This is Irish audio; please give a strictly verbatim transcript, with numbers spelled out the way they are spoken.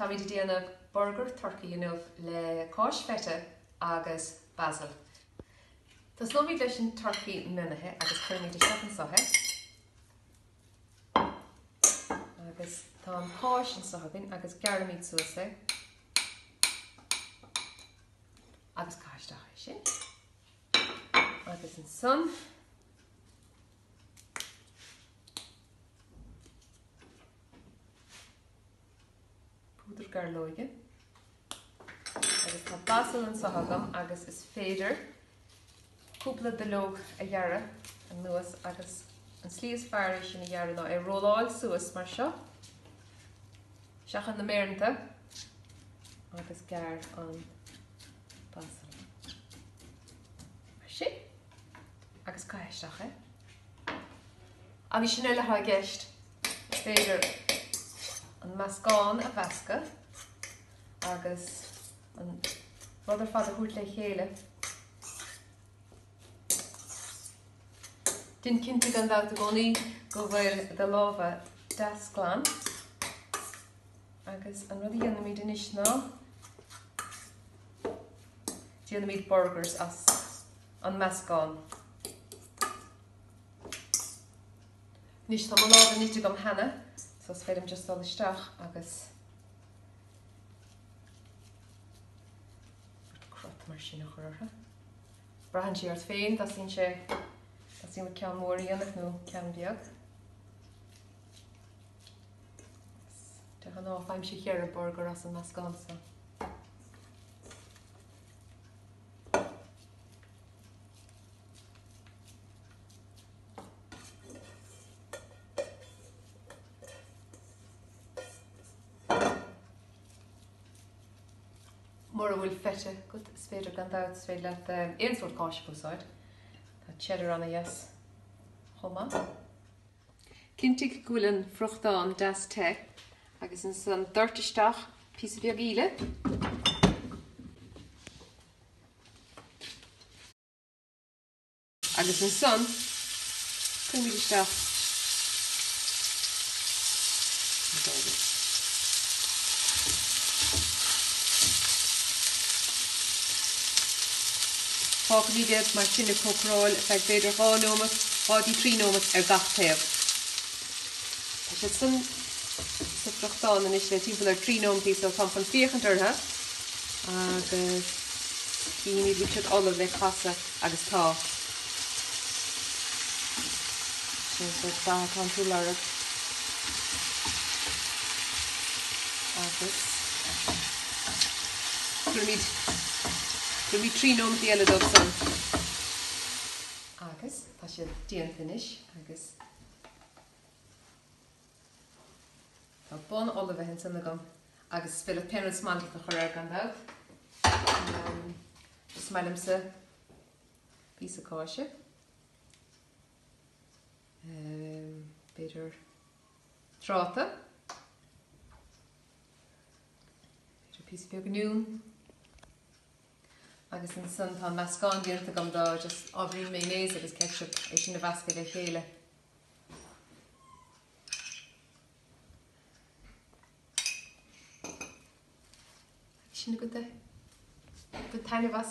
Táimid ag déanamh burgar turcaí inniu le cáis feta agus basil. Tosnóimid leis an turcaí mionaithe agus cuirfimid isteach anseo é. Agus tá an cáis anseo againn agus gearraimid suas é. Agus caith isteach é sin. Agus ansan púdar gairleoige. Agus tá basil anseo agam agus is féidir cúpla duilleog a ghearradh anuas agus an slí is fearr é sin a ghearradh ná é rolláil suas mar seo. Seachain na méireanta agus gearr an basil. Mar sin agus caith isteach é. Agus sin uile atá i gceist. Is féidir an meascán a mheascadh agus an rud ar fad a thabhairt le chéile. Déan cinnte gan dabht i gcónaí go bhfuil do lámha deas glan. Agus an rud a dhéanaimid anois ná déanaimid burgers as an meascán. Anois tá mo lámha nite agam cheana, so is féidir liom just dul isteach agus crot mar sin a chur orthu. Braitheann sé ort féin, dteastaíonn sé dteastaíonn ceann mór a dhéanamh nó ceann beag. De ghnáth faighimse ceithre burgar as an meascán seo. Mura bhfuil feta agat, is féidir gan dabht, is féidir leat aon sórt cáis a úsáid. Tá cheddar an-deas chomh maith. Cinntigh go bhfuil an friochtán deas te agus ansan doirt isteach píosa beag íle. Agus ansan cuirimid isteach na burgers. Fágfaimid iad mar sin ag cócaráil ar feadh b'fhéidir dhá nóiméad, dhá dtí trí nóiméad ar gach taobh. Tá siad san sa friochtán anois le timpeall ar trí nóiméad so táim chun féachaint orthu agus cífimid bhfuil siad ullamh le casadh agus tá. Sin an sórt dath atá tú ag lorg. Agus cuirimid cuirimid trí nóiméad eile dóibh san. Agus tá siad déanta anois agus tá bun ullmhaithe ansan agam agus is féidir pé rud is maith leat a chur air gan dabht. Um, is maith liomsa píosa cáise. Um, b'fhéidir tráta. B'fhéidir píosa beag oinniún. Agus ansan tá meascán déanta agam de just ábhairín mayonnaise agus ketchup é sin a mheascadh le chéile. Sin agat é. Bain taitneamh as.